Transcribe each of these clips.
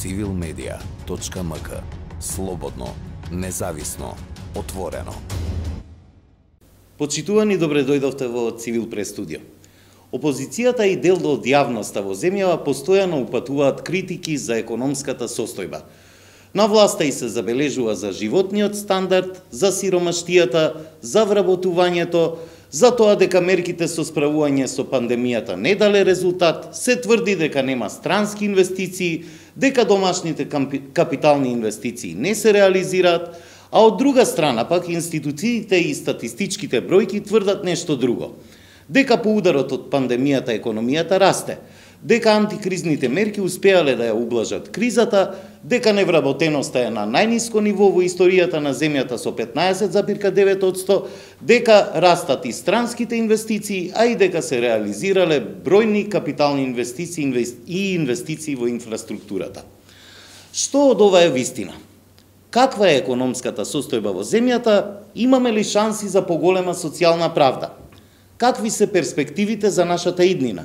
civilmedia.mk. Слободно, независно, отворено. Почитувани, добре дојдовте во Цивил Прес студио. Опозицијата и дел од јавноста во земјава постојано упатуваат критики за економската состојба. На власта и се забележува за животниот стандард, за сиромаштијата, за вработувањето, за тоа дека мерките со справување со пандемијата не дале резултат, се тврди дека нема странски инвестиции, дека домашните капитални инвестиции не се реализираат, а од друга страна пак институциите и статистичките бројки тврдат нешто друго. Дека по ударот од пандемијата економијата расте, дека антикризните мерки успеале да ја ублажат кризата, дека невработеноста е на најниско ниво во историјата на земјата со 15,9%, дека растат и странските инвестиции, а и дека се реализирале бројни капитални инвестиции и инвестиции во инфраструктурата. Што од ова е вистина? Каква е економската состојба во земјата? Имаме ли шанси за поголема социјална правда? Какви се перспективите за нашата иднина?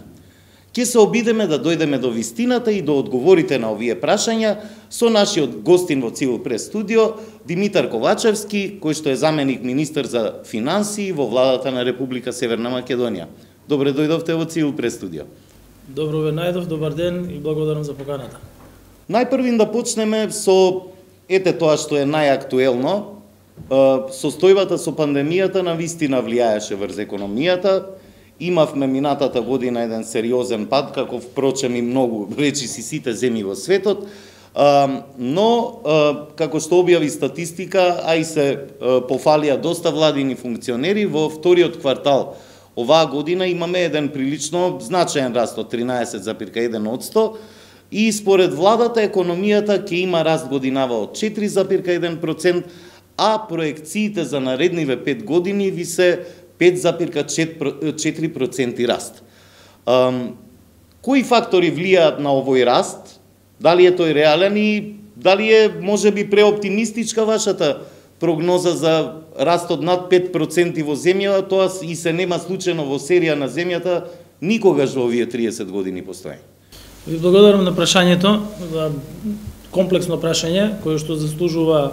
Ќе се обидеме да дојдеме до вистината и до одговорите на овие прашања со нашиот гостин во Цивил Прес студио, Димитар Ковачевски, кој што е заменик министер за финансии во владата на Република Северна Македонија. Добре дојдовте во Цивил Прес студио. Добро ве најдов, добар ден и благодарам за поканата. Најпрвин да почнеме со тоа што е најактуелно. Состојбата со пандемијата на вистина влијаеше врз економијата. Имавме минатата година еден сериозен пад, како впрочем и многу речиси сите земји во светот, но како што објави статистика, а и се пофалија доста владини функционери, во вториот квартал оваа година имаме еден прилично значаен раст од 13,1%, и според владата економијата ќе има раст годинава од 4,1%, а проекциите за наредниве 5 години ви се 5,4% раст. Кои фактори влијаат на овој раст? Дали е тој реален и дали е можеби преоптимистичка вашата прогноза за растот над 5% во земјава? Тоа и се нема случајно во серија на земјата никогаш во овие 30 години постоење. Ви благодарам на прашањето, комплексно прашање кој што заслужува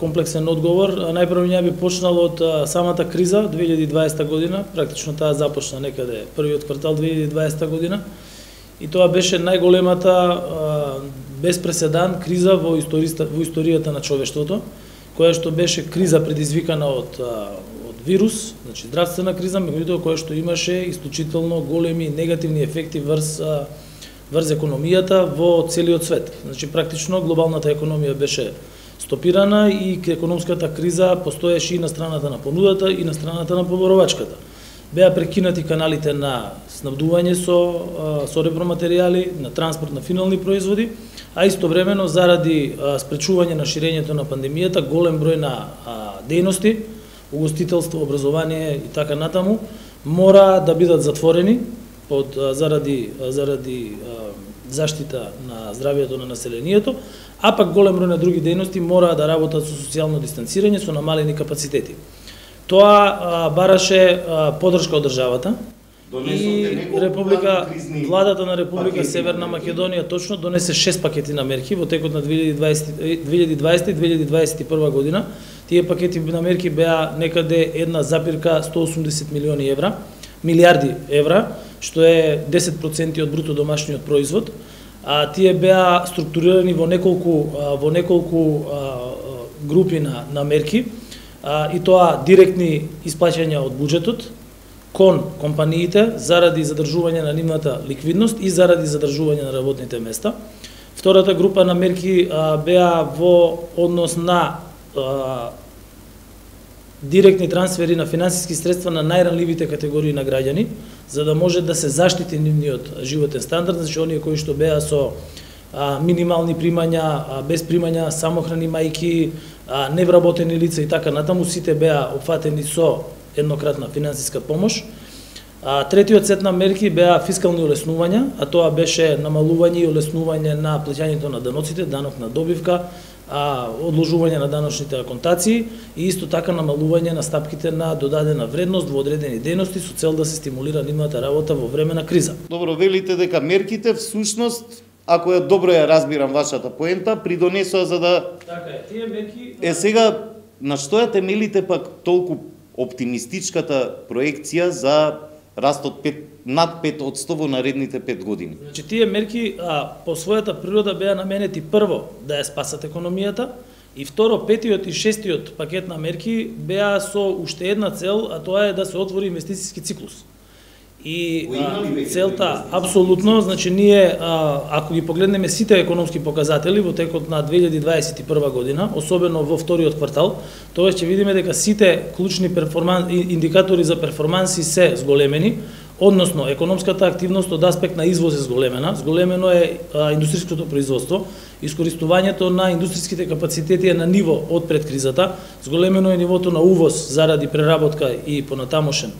комплексен одговор. Најпрво ја би почнал од самата криза 2020 година, практично таа започна некаде првиот квартал 2020 година, и тоа беше најголемата без преседан криза во историјата на човештвото, која што беше криза предизвикана од вирус, значи здравствена криза, меѓутоа која што имаше исклучително големи негативни ефекти врз економијата во целиот свет. Значи практично глобалната економија беше стопирана и економската криза постоеше и на страната на понудата и на страната на поборовачката. Беа прекинати каналите на снабдување со репроматеријали, на транспорт на финални производи, а истовремено заради спречување на ширењето на пандемијата, голем број на дејности, угостителство, образование и така натаму, мора да бидат затворени заради заштита на здравјето на населението, а пак голем број на други дејности мора да работат со социјално дистанцирање, со намалени капацитети. Тоа бараше поддршка од државата и владата на Република Северна Македонија точно донесе 6 пакети на мерки во текот на 2020 и 2021 година. Тие пакети на мерки беа некаде 1,180 милиарди евра, што е 10% од бруто домашниот производ. Тие беа структурирани во неколку групи на мерки, и тоа директни исплаќања од буџетот кон компаниите заради задржување на нивната ликвидност и заради задржување на работните места. Втората група на мерки беа во однос на директни трансфери на финансиски средства на најранливите категории на граѓани, за да може да се заштити нивниот животен стандард, значи оние кои што беа со минимални примања, без примања, самохрани мајки, невработени лица и така натаму, сите беа опфатени со еднократна финансиска помош. Третиот сет на мерки беа фискални олеснувања, а тоа беше намалување и олеснување на плаќањето на даноците, данок на добивка, одложување на даночните аконтации и исто така намалување на стапките на додадена вредност во одредени дејности со цел да се стимулира нивната работа во време на криза. Добро, велите дека мерките всушност ако ја добро ја разбирам вашата поента, придонесоа за да... Така е, тие мерки... сега, на што ја темелите пак толку оптимистичката проекција за растот над 5% во наредните 5 години? Значи, тие мерки по својата природа беа наменети прво да ја спасат економијата, и второ, петиот и шестиот пакет на мерки беа со уште една цел, а тоа е да се отвори инвестициски циклус. И целта, апсолутно, значи ние, ако ги погледнеме сите економски показатели во текот на 2021 година, особено во вториот квартал, тоа ќе видиме дека сите клучни индикатори за перформанси се зголемени, односно економската активност од аспект на извоз е зголемено е индустријското производство, искористувањето на индустријските капацитети е на ниво од пред кризата, зголемено е нивото на увоз заради преработка и понатамошен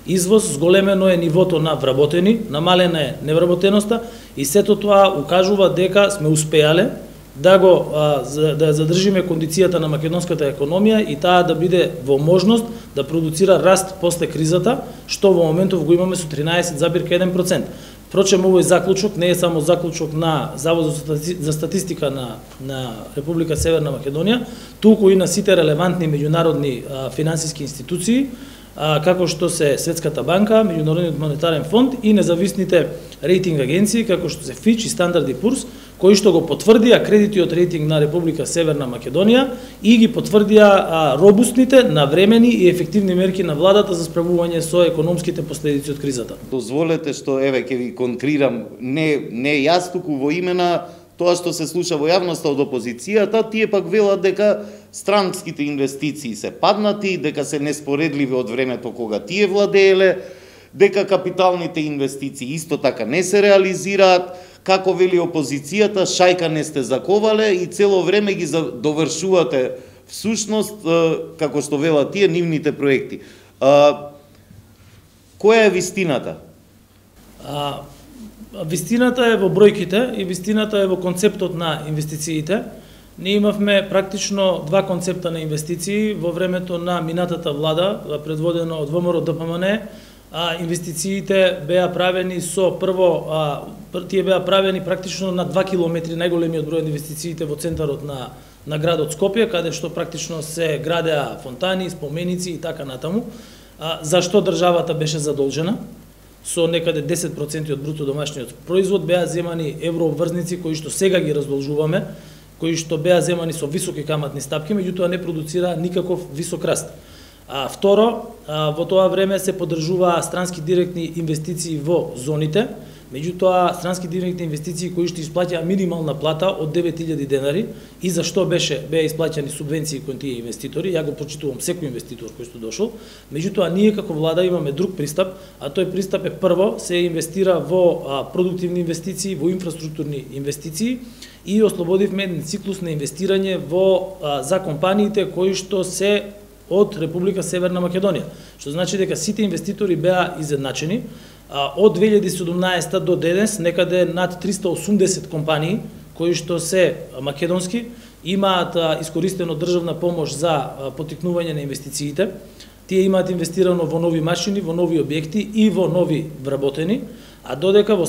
извоз, зголемено е нивото на вработени, намалена е невработеноста и сето тоа укажува дека сме успеале да да задржиме кондицијата на македонската економија и таа да биде во можност да продуцира раст после кризата, што во моментов го имаме со 13,1%. Впрочем, овој заклучок не е само заклучок на Заводот за статистика на Република Северна Македонија, туку и на сите релевантни меѓународни финансиски институции, како што се Светската банка, Меѓународниот монетарен фонд и независните рейтинг агенции, како што се Fitch и Standard & Poor's, кои што го потврдија кредитиот рейтинг на Република Северна Македонија и ги потврдија робусните, навремени и ефективни мерки на владата за справување со економските последици од кризата. Дозволете што ќе ви конкрирам, не јас туку во име на тоа што се слуша во јавноста од опозицијата, тие пак велат дека странските инвестиции се паднати, дека се неспоредливи од времето кога тие владееле, дека капиталните инвестиции исто така не се реализираат, како вели опозицијата, шајка не сте заковале и цело време ги довршувате всушност, како што велат тие, нивните проекти. Која е вистината? Вистината е во бројките и вистината е во концептот на инвестициите. Ние имавме практично два концепта на инвестиции во времето на минатата влада, предводено од ВМРО ДПМН. Инвестициите беа правени тие беа правени практично на 2 километри, најголемиот број инвестициите во центарот на градот Скопје, каде што практично се градеа фонтани, споменици и така натаму. Зашто државата беше задолжена? Со некаде 10% од бруто домашниот производ беа земани еврообврзници кои што сега ги раздолжуваме, кои што беа земани со високи каматни стапки, меѓутоа не продуцира никаков висок раст. Второ, во тоа време се поддржуваа странски директни инвестиции во зоните, меѓутоа странски директни инвестиции кои што исплаќаа минимална плата од 9000 денари и зашто беа исплаќани субвенции кон тие инвеститори. Ја го почитувам секој инвеститор кој што дошол. Меѓутоа ние како влада имаме друг пристап, а тој пристап е прво се инвестира во продуктивни инвестиции, во инфраструктурни инвестиции и ослободивме еден циклус на инвестирање за компаниите кои што се од Република Северна Македонија. Што значи дека сите инвеститори беа изедначени. Од 2017 до денес некаде над 380 компании кои што се македонски имаат искористено државна помош за поттикнување на инвестициите. Тие имаат инвестирано во нови машини, во нови објекти и во нови вработени, а додека во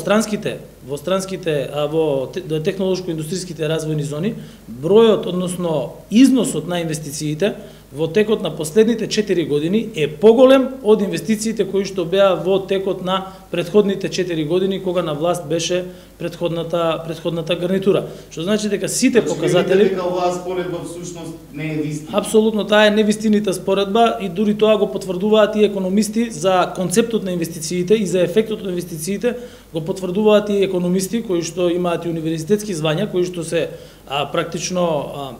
технолошко-индустријските развојни зони бројот, односно износот на инвестициите во текот на последните 4 години е поголем од инвестициите кои што беа во текот на претходните 4 години кога на власт беше претходната гарнитура. Што значи дека сите показатели дека оваа споредба всушност не е вистина. Апсолутно таа е невистинита споредба и дури тоа го потврдуваат и економисти за концептот на инвестициите и за ефектот на инвестициите, го потврдуваат и економисти кои што имаат и универзитетски звања, кои што се практично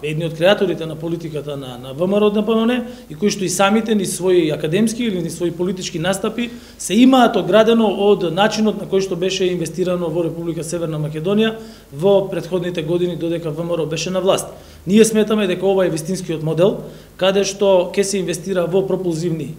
едни од креаторите на политиката на ВМРО ДПМН и кои што и самите ни своји академски или ни своји политички настапи се имаат оградено од начинот на кој што беше инвестирано во Република Северна Македонија во претходните години додека ВМРО беше на власт. Ние сметаме дека ова е вистинскиот модел, каде што ќе се инвестира во пропулзивни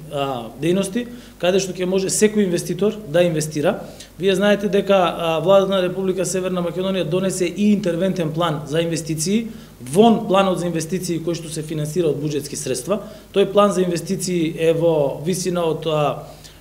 дејности, каде што ќе може секој инвеститор да инвестира. Вие знаете дека владата на Република Северна Македонија донесе и интервентен план за инвестиции, вон планот за инвестиции кој што се финансира од буџетски средства. Тој план за инвестиции е во висина од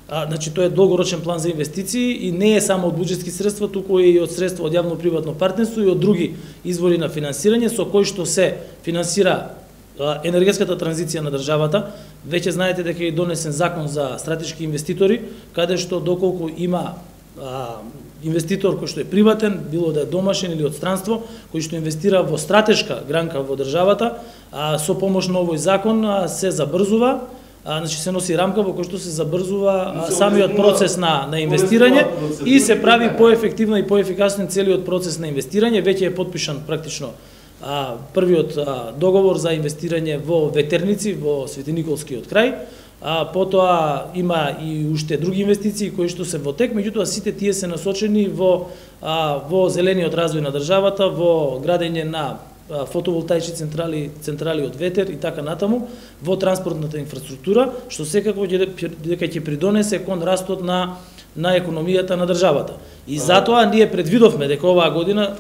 Значи тоа е долгорочен план за инвестиции и не е само од буџетски средства, туку и од средства од јавно-приватно партнерство и од други извори на финансирање со кои што се финансира енергетската транзиција на државата. Веќе знаете дека е донесен закон за стратешки инвеститори, каде што доколку има инвеститор кој што е приватен, било да е домашен или од странство, кој што инвестира во стратешка гранка во државата, со помош на овој закон се забрзува, значи се носи рамка во која што се забрзува самиот процес на инвестирање и се прави поефективно и поефикасно целиот процес на инвестирање. Веќе е потпишан практично првиот договор за инвестирање во ветерници во Свети Николскиот крај. Потоа има и уште други инвестиции кои што се во тек, меѓутоа сите тие се насочени во зелениот развој на државата, во градење на фотоволтаични централи од ветер и така натаму, во транспортната инфраструктура, што секако дека ќе придонесе кон растот на економијата на државата. И затоа ние предвидовме дека оваа година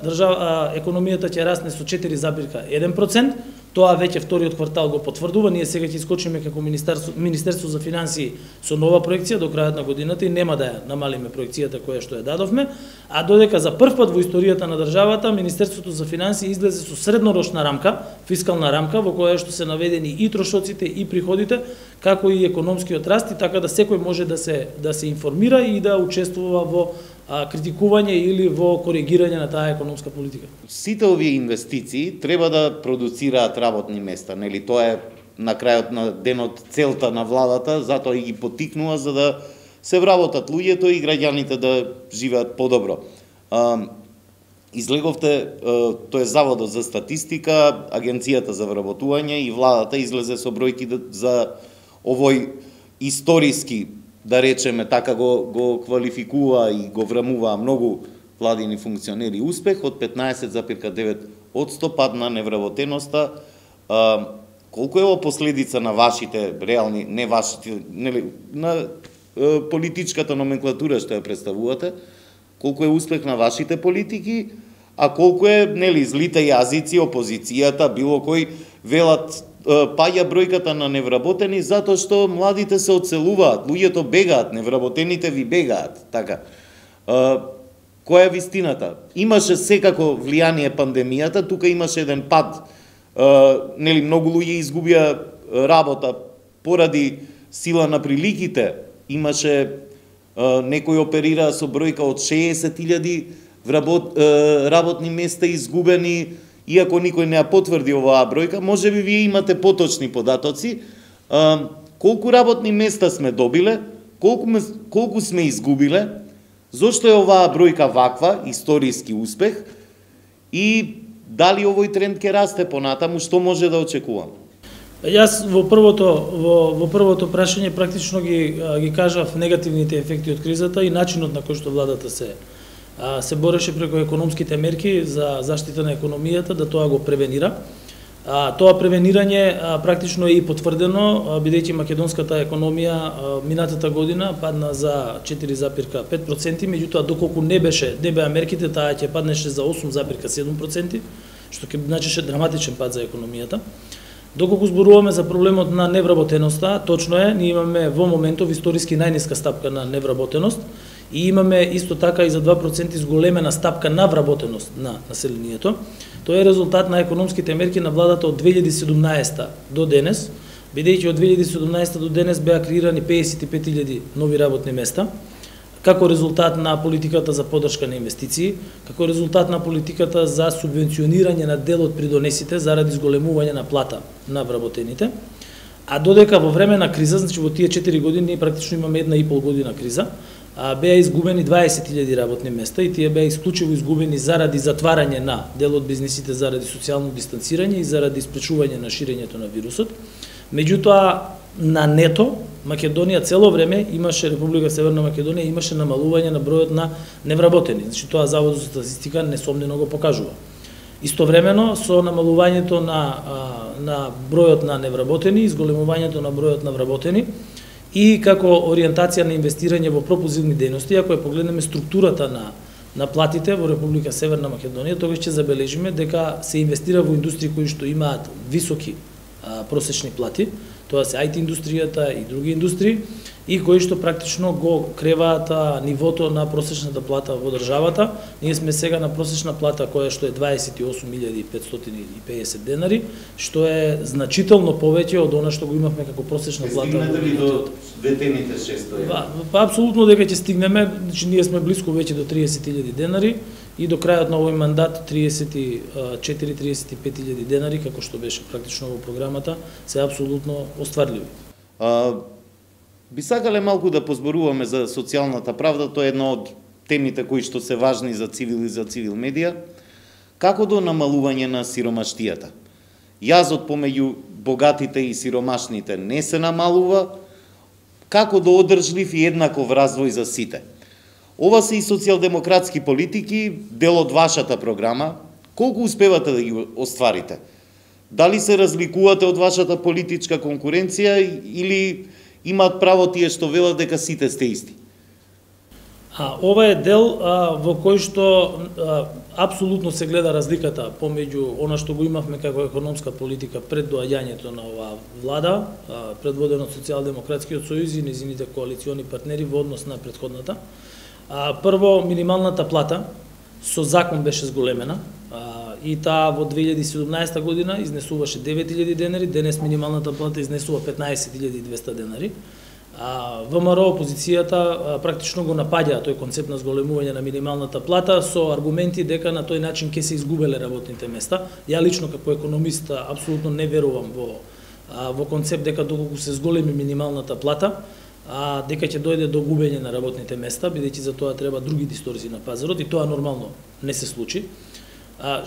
економијата ќе расне со 4,1%. Тоа веќе вториот квартал го потврдува. Ние сега ќе искочиме како Министерство за финансии со нова проекција до крајот на годината и нема да ја намалиме проекцијата која што ја дадовме, а додека за прв пат во историјата на државата Министерството за финансии излезе со среднорочна рамка, фискална рамка во која што се наведени и трошоците и приходите, како и економскиот раст, и така да секој може да се информира и да учествува во критикување или во коригирање на таа економска политика. Сите овие инвестиции треба да продуцираат работни места, нели? Тоа е на крајот на денот целта на владата, затоа и ги поттикнува за да се вработат луѓето и граѓаните да живеат подобро. Излеговте, тоа е Заводот за статистика, Агенцијата за вработување и владата излезе со бројки за овој историски, да речеме така, го квалификува и го врамува многу владини функционери успех од 15,9% пад на невработеноста. Колку е последица на вашите реални, не вашите, нели, на политичката номенклатура што ја представувате, колку е успех на вашите политики, а колку е, нели, злите јазици, опозицијата, било кој велат паѓа бројката на невработени затоа што младите се одселуваат, луѓето бегаат, невработените ви бегаат, така. Која е вистината? Имаше секако влијание пандемијата, тука имаше еден пад, нели, многу луѓе изгубија работа поради сила на приликите, имаше некои оперираа со бројка од 60.000 работни места изгубени. Иако никој не ја потврди оваа бројка, може би вие имате поточни податоци, колку работни места сме добиле, колку сме изгубиле, зошто е оваа бројка ваква, историски успех, и дали овој тренд ќе расте понатаму, што може да очекувам? Јас во првото прашање практично ги кажав негативните ефекти од кризата и начинот на кој што владата се бореше преку економските мерки за заштита на економијата, да тоа го превенира. Тоа превенирање практично е и потврдено, бидејќи македонската економија минатата година падна за 4,5%, меѓутоа доколку не беа мерките, таа ќе паднеше за 8,7%, што ќе значеше драматичен пад за економијата. Доколку зборуваме за проблемот на невработеноста, точно е, ние имаме во моментов историски најниска стапка на невработеност, и имаме исто така и за 2% зголемена стапка на вработеност на населението. Тоа е резултат на економските мерки на владата од 2017 до денес, бидејќи од 2017 до денес беа креирани 55.000 нови работни места, како резултат на политиката за поддршка на инвестиции, како резултат на политиката за субвенционирање на дел од придонесите заради зголемување на плата на вработените. А додека во време на криза, значи во тие 4 години, ние практично имаме 1,5 година криза, беа изгубени 20.000 работни места и тие беа исклучиво изгубени заради затварање на дел од бизнисите, заради социјално дистанцирање и заради спречување на ширењето на вирусот. Меѓутоа, на нето, Македонија цело време имаше, Република Северна Македонија имаше намалување на бројот на невработени. Значи тоа Заводот за статистика несомнено го покажува. Истовремено со намалувањето на бројот на невработени, изголемувањето на бројот на вработени и како ориентација на инвестирање во пропозивни дејности, ако ја погледнеме структурата на платите во Република Северна Македонија, тогаш ќе забележиме дека се инвестира во индустрии кои што имаат високи просечни плати, Тоа се IT индустријата и други индустрии, и кои што практично го креваат нивото на просечната плата во државата. Ние сме сега на просечна плата која што е 28.550 денари, што е значително повеќе од она што го имавме како просечна плата. Стигнете ли до ветените 600 евра? Па апсолутно дека ќе стигнеме, значи ние сме близко веќе до 30.000 денари и до крајот на овој мандат 34-35.000 денари, како што беше практично во програмата, се апсолутно остварливи. Би сакале малку да позборуваме за социјалната правда, тоа е една од темите кои што се важни за цивил и за цивил медија. Како до намалување на сиромаштијата? Јазот помеѓу богатите и сиромашните не се намалува, како до одржлив и еднаков развој за сите? Ова се и социјалдемократски политики, дел од вашата програма. Колку успевате да ги остварите? Дали се разликувате од вашата политичка конкуренција или имаат право тие што велат дека сите сте исти? Ова е дел во кој што апсолутно се гледа разликата помеѓу она што го имавме како економска политика пред доаѓањето на оваа влада, предводена од Социјалдемократскиот сојуз и незините коалициони партнери во однос на претходната. Прво, минималната плата со закон беше зголемена, и таа во 2017 година изнесуваше 9.000 денари, денес минималната плата изнесува 15.200 денари. ВМРО опозицијата практично го напаѓа тој концепт на зголемување на минималната плата со аргументи дека на тој начин ќе се изгубеле работните места. Ја лично како економист апсолутно не верувам во концепт дека доколку се зголеми минималната плата, дека ќе дојде до губење на работните места, бидејќи за тоа треба други дисторзии на пазарот и тоа нормално не се случи.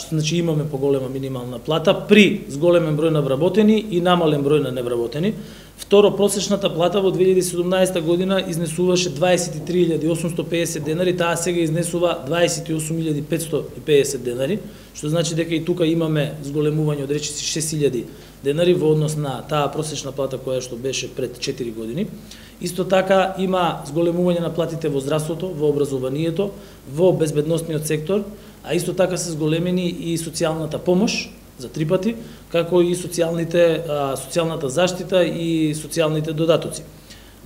Значи имаме поголема минимална плата при зголемен број на вработени и намален број на невработени. Второ, просечната плата во 2017 година изнесуваше 23.850 денари, таа сега изнесува 28.550 денари, што значи дека и тука имаме зголемување од речиси 6.000 денари во однос на таа просечна плата која што беше пред 4 години. Исто така има зголемување на платите во здравството, во образованието, во безбедносниот сектор, а исто така се зголемени и социјалната помош за 3 пати, како и социјалната заштита и социјалните додатоци.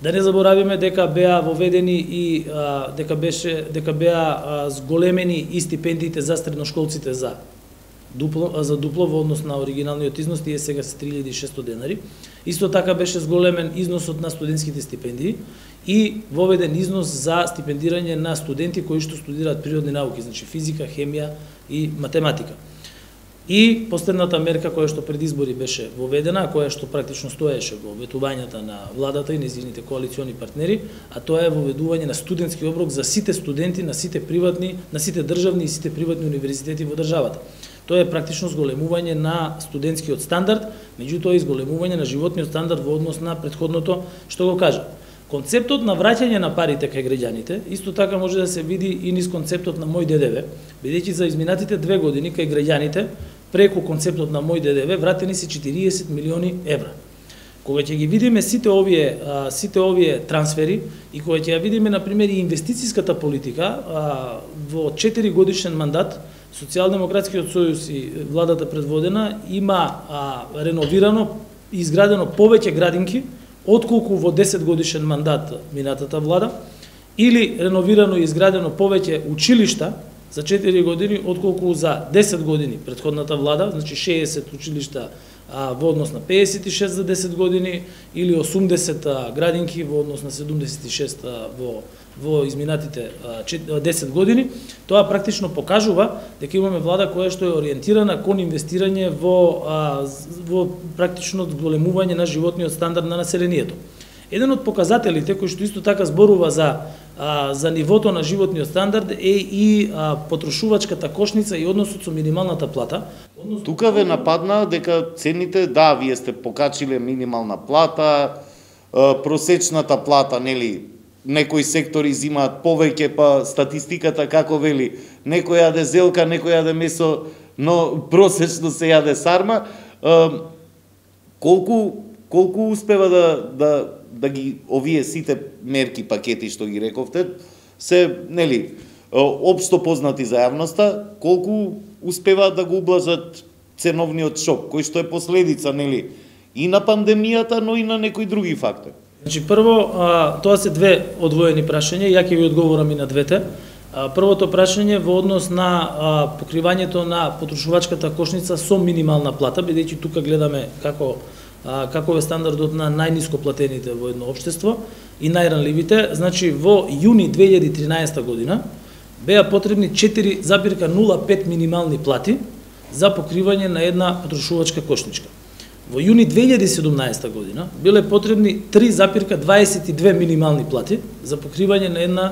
Да не заборавиме дека беа воведени и дека беа зголемени и стипендиите за средношколците за дупло во однос на оригиналниот износ, тие сега се 3.600 денари. Исто така беше зголемен износот на студентските стипендии и воведен износ за стипендирање на студенти кои што студираат природни науки, значи физика, хемија и математика. И последната мерка која што пред избори беше воведена, која што практично стоеше во ветувањата на владата и незините коалициони партнери, а тоа е воведување на студентски оброк за сите студенти на сите државни и сите приватни универзитети во државата. Тоа е практично зголемување на студентскиот стандард, меѓутоа и зголемување на животниот стандард во однос на претходното што го кажа. Концептот на враќање на парите кај граѓаните исто така може да се види и низ концептот на Мој ДДВ, бидејќи за изминатите 2 години кај граѓаните преку концептот на Мој ДДВ вратени се 40 милиони евра. Кога ќе ги видиме сите овие трансфери и кога ќе ја видиме на пример и инвестицијската политика во 4 годишен мандат, Социјалдемократскиот сојуз и владата предводена има реновирано и изградено повеќе градинки отколку во 10 годишен мандат минатата влада, или реновирано и изградено повеќе училишта за 4 години отколку за 10 години претходната влада, значи 60 училишта во однос на 56 за 10 години или 80 градинки во однос на 76 во изминатите 10 години. Тоа практично покажува дека имаме влада која што е ориентирана кон инвестирање во практично зголемување на животниот стандард на населението. Еден од показателите кој што исто така зборува за нивото на животниот стандард е и потрошувачката кошница и односот со минималната плата. Тука ве нападна дека цените, да, вие сте покачиле минимална плата, просечната плата, нели, некои сектори зимаат повеќе, па статистиката како вели, некој јаде зелка, некој јаде месо, но просечно се јаде сарма. Колку успева да ги овие сите мерки, пакети што ги рековте, се, нели, општо познати за јавноста, колку успеваат да го ублажат ценовниот шок, кој што е последица, нели, и на пандемијата, но и на некои други фактори. Значи, прво, тоа се две одвоени прашања, ја ќе ви одговорам и на двете. Првото прашање во однос на покривањето на потрошувачката кошница со минимална плата, бидејќи тука гледаме каков е стандардот на најниско платените во едно општество и најранливите. Значи, во јуни 2013 година беа потребни 4,05 минимални плати за покривање на една потрошувачка кошничка. Во јуни 2017 година биле потребни 3,22 минимални плати за покривање на една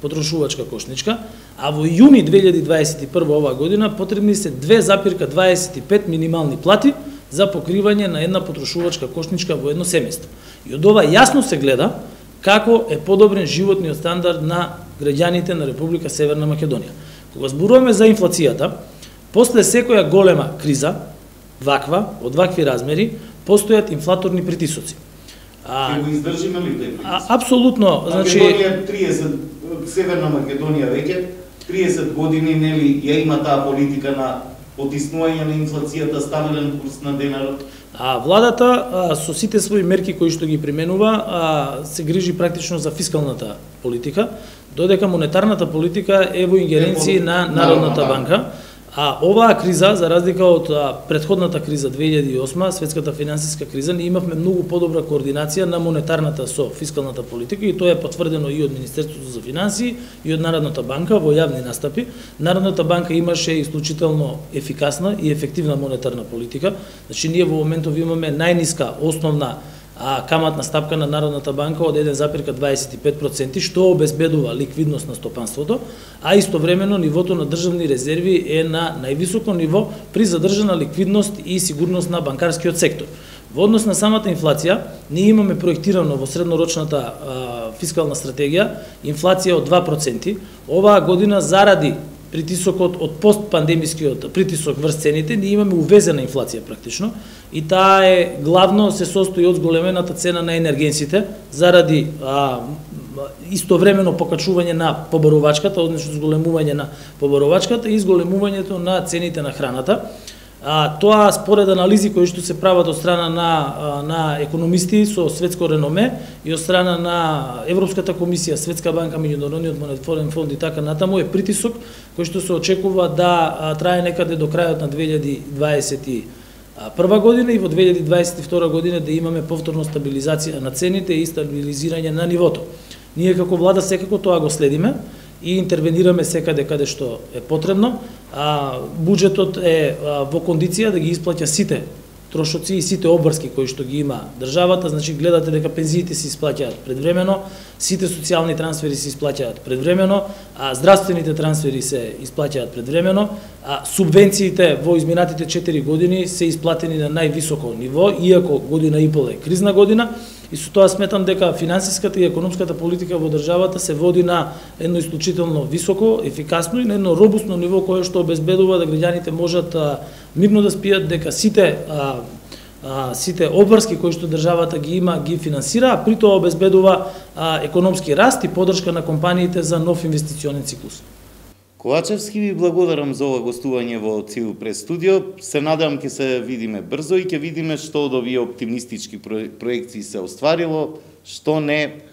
потрошувачка кошничка, а во јуни 2021 оваа година потребни се 2,25 минимални плати за покривање на една потрошувачка кошничка во едно семејство. И од ова јасно се гледа како е подобрен животниот стандард на граѓаните на Република Северна Македонија. Кога зборуваме за инфлацијата, после секоја голема криза, од вакви размери, постојат инфлаторни притисоци. Ќе го издржиме ли тој притисок? Апсолутно, значи Македонија 30, Северна Македонија веќе 30 години нели ја има таа политика на потиснување на инфлацијата, стабилен курс на денарот. Владата со сите своји мерки кои што ги применува се грижи практично за фискалната политика, додека монетарната политика е во ингеренции на Народната банка. Оваа криза, за разлика од претходната криза 2008, светската финансиска криза, ние имавме многу подобра координација на монетарната со фискалната политика и тоа е потврдено и од Министерството за финансии и од Народната банка во јавни настапи. Народната банка имаше исклучително ефикасна и ефективна монетарна политика. Значи ние во моментов имаме најниска основна каматна стапка на Народната банка од 1,25%, што обезбедува ликвидност на стопанството, а истовремено нивото на државни резерви е на највисоко ниво при задржана ликвидност и сигурност на банкарскиот сектор. Во однос на самата инфлација, ние имаме проектирано во среднорочната фискална стратегија инфлација од 2%. Оваа година заради притисокот од постпандемискиот притисок врз цените, ние имаме увезена инфлација практично и таа е главно се состои од зголемената цена на енергенсите заради истовремено покачување на поборовачката, односно зголемување на поборовачката и зголемувањето на цените на храната. Тоа според анализи кои што се прават од страна на економисти со светско реноме и од страна на Европската комисија, Светска банка, Меѓународниот монетарен фонд и така натаму е притисок кој што се очекува да трае некаде до крајот на 2021 година и во 2022 година да имаме повторно стабилизација на цените и стабилизирање на нивото. Ние како влада секако тоа го следиме и интервенираме секаде каде што е потребно. Буџетот е во кондиција да ги исплаќа сите трошоци и сите обврски кои што ги има државата, значи гледате дека пензиите се исплаќаат предвремено, сите социјални трансфери се исплаќаат предвремено, здравствените трансфери се исплаќаат предвремено, субвенциите во изминатите 4 години се исплатени на највисоко ниво, иако година и пол е кризна година. И со тоа сметам дека финансиската и економската политика во државата се води на едно исклучително високо, ефикасно и на едно робусно ниво кое што обезбедува да граѓаните можат мирно да спијат, дека сите обврски кои што државата ги има ги финансира, а при тоа обезбедува економски раст и поддршка на компаниите за нов инвестиционен циклус. Ковачевски, ви благодарам за ова гостување во Цивил Прес студио. Се надевам ќе се видиме брзо и ќе видиме што од овие оптимистички проекции се остварило, што не,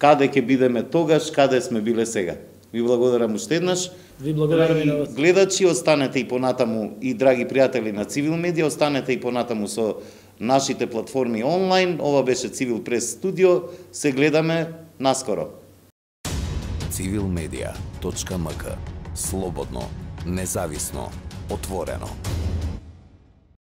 каде ќе бидеме тогаш, каде сме биле сега. Ви благодарам уште еднаш. Ви благодарам и на вас. Гледачи, останете и понатаму и драги пријатели на Цивил Медија, останете и понатаму со нашите платформи онлайн. Ова беше Цивил Прес студио. Се гледаме наскоро. civilmedia.mk. Слободно, независно, отворено.